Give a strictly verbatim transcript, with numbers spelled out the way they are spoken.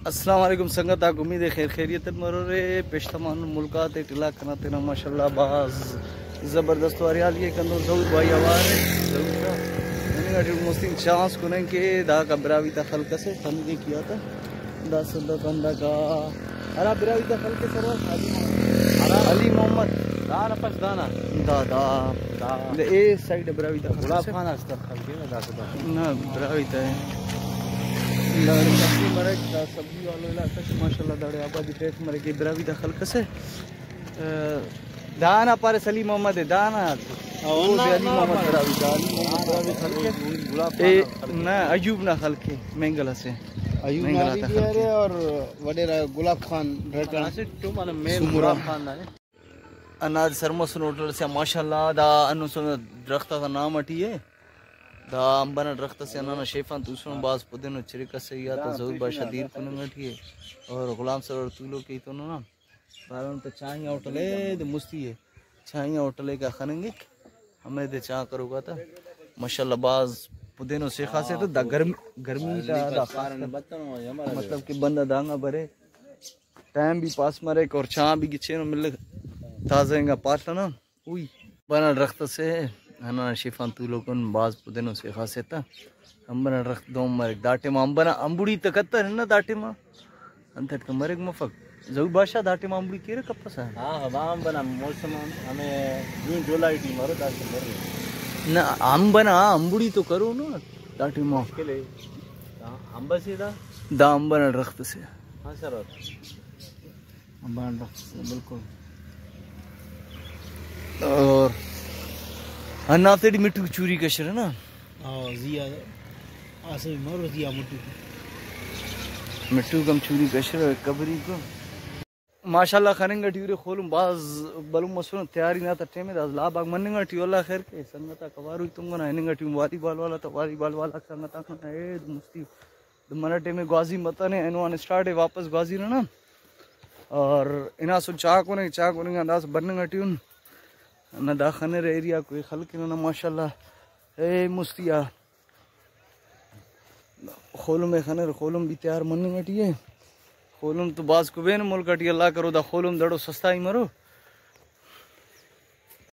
السلام علیکم سنگت آک، امید ہے خیر خیریت اٹ مرورے۔ پیش تمام ملک آتے ٹلاک کنا تینا ماشاءاللہ بھاز زبردست و ہریالی ءِ کندو۔ ظہور بھائی اوار ءِ، ظہور شاہ۔ ہننگ ٹی مستی چانس کننگ کہ داکا براہوئی تا خلق اسے خننگ کیا تا۔ دا سندت ہنداکا ہرا براہوئی تا خلق سر علی محمد۔ علی محمد۔ دانا پس دانا۔ دا، دا۔ دا۔ دا اے سائیڈ براہوئی تا خلق گلاب اسے۔ خان اس تا خلق نا دا سدا۔ نہ، براہوئی تا ہے۔ دا سبزی مرک، دا سبزی والو علاقہ سے ماشاءاللہ داڑے آبادی ٹیک مرے کہ براہوئی دا خلق اسے۔ آ، دانا پارے سلیم محمد ہے، دانا۔ او، او نا، دے علی نا، محمد نا۔ براہوئی دا، علی محمد براہوئی خلق ہے۔ گلاب اے، خان خلق ہے۔ نہ، ایوب نا خلق ہے، مینگل اسے۔ ایوب مینگل نا آتا بھی خلق ہے۔ اور وڈیرہ گلاب خان ڈرٹن۔ اسے تو مانا مین سمرا۔ گلاب خان نا ہے۔ انا سرمسن ہوٹل سے ماشاءاللہ دا انو سن درخت آتا نام اٹی ہے۔ دا امب ئنا درخت اسے، ہندانا شیف آن توسن، بھاز پدینو چرک اسے یا تا ظہور بادشاہ دیر کننگ ٹی ءِ اور غلام سرور تولوک ءِ ایتون نا۔ پارون تا چائے ہوٹل ءِ، دے مستی ءِ۔ چائے ہوٹل ءِ کا خننگک، ہمے دے چاہ کروکا تا۔ ماشاءاللہ بھاز پدینو سیخا سے تو دا گرمی، گرمی تا دا خاص کر مطلب کہ بندہ دانگا برے۔ ٹائم بھی پاس مریک اور چاہ بھی گچینو ملک، تازہ انگا پاڷ ئنا۔ اوئی۔ امب ئنا درخت اسے، ہندا شیف آن تولوکن بھاز پدینو سیخا سے تا۔ امب ئنا درخت دہن مریک۔ دا ٹائما امب ئنا امبڑی تہ کتر ہندا دا ٹائما۔ انتئے کہ مریک مفک۔ ظہور بادشاہ دا ٹائما امبڑی کیرہ کپسہ؟ ہاں، ہاں، دا امب ئنا موسم ہم-، ہمے جون جولائی ٹی مرو، دا ٹائم مرو۔ نہ، امب ئنا امبڑی تو کرو نا دا ٹائما۔ مشکل ہے۔ دا امب اسے دا؟ دا امب ئنا درخت اسے۔ ہاں سر۔ امب ئنا درخت اسے، بالکل۔ اور ہندافتے ٹی مٹھوک چوری کشرہ نا؟ ہاں، زی آ اسہ مرو زی آ مٹھوک۔ مٹھوک ہم چوری کشرہ قبری کو۔ ماشاءاللہ خننگ ٹی ارے خولم بھاز بھلن مسنے، تیاری نا تا ٹائم ءِ، دا لاب آک مننگ ٹی، اللہ خیر کے، سنگت آک اوار ءُ تنگنہ، ہننگ ٹی والی بال والا تا، والی بال والا سنگت آک ننا اے مستی۔ تو منہ ٹائم ءِ گوازی متنے، اینو آن اسٹارٹ ءِ واپس گوازی رہنا۔ اور ہناسن چاہ کننگ، چاہ کننگ آن داسہ بننگ ٹی ان۔ نہ دا خنر ایریا کوئی خلق ننا ماشاءاللہ۔ اے مستی آ خولم ءِ خنر، خولم بھی تیار مننگ ٹی ءِ۔ خولم تو بھاز کبین ملک ٹی، اللہ کرو دا خولم دڑو سستا ہی مرو۔